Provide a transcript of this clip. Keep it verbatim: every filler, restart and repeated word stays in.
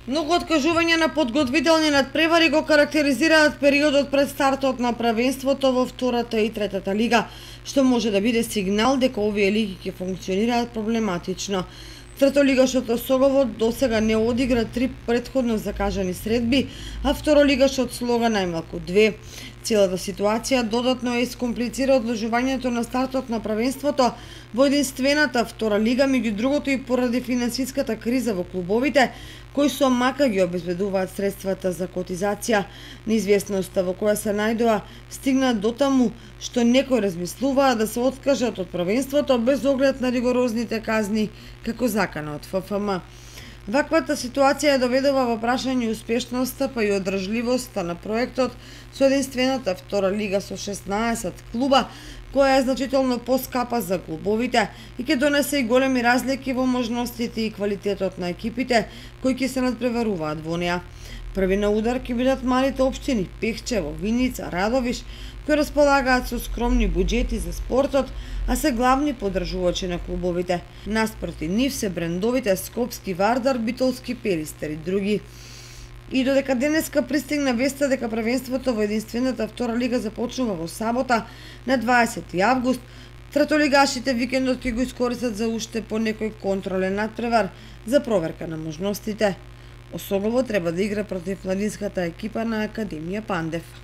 Многу откажувања на подготвителни надпревари го карактеризираат периодот пред стартот на првенството во втората и третата лига, што може да биде сигнал дека овие лиги ќе функционираат проблематично. Третолигашот Осогово досега не одигра три претходно закажани средби, а второлигашот Слога најмалку две. Целата ситуација додатно е искомплицира одложувањето на стартот на првенството во единствената втора лига, меѓу другото и поради финансиската криза во клубовите, кои со мака ги обезбедуваат средствата за котизација. Неизвестноста во која се најдоа стигна до таму што некои размислуваат да се откажат од првенството без оглед на ригорозните казни како заканот Ф Ф М. Ваквата ситуација доведува во прашање успешноста па и одржливоста на проектот со единствената втора лига со шеснаесет клуба, која е значително поскапа за клубовите и ќе донесе и големи разлики во можностите и квалитетот на екипите кои ќе се надпреваруваат во неа. Први на удар ќе бидат малите општини Пехчево, Виница, Радовиш, кои располагаат со скромни буџети за спортот, а се главни поддржувачи на клубовите. Наспроти нив се брендовите Скопски Вардар, Битолски Перистер и други. И додека денеска пристигна веста дека првенството во единствената втора лига започнува во сабота на дваесети август, третолигашите викендот ќе го искористат за уште по некој контролен надпревар за проверка на можностите. Осогово треба да игра против младинската екипа на Академија Пандев.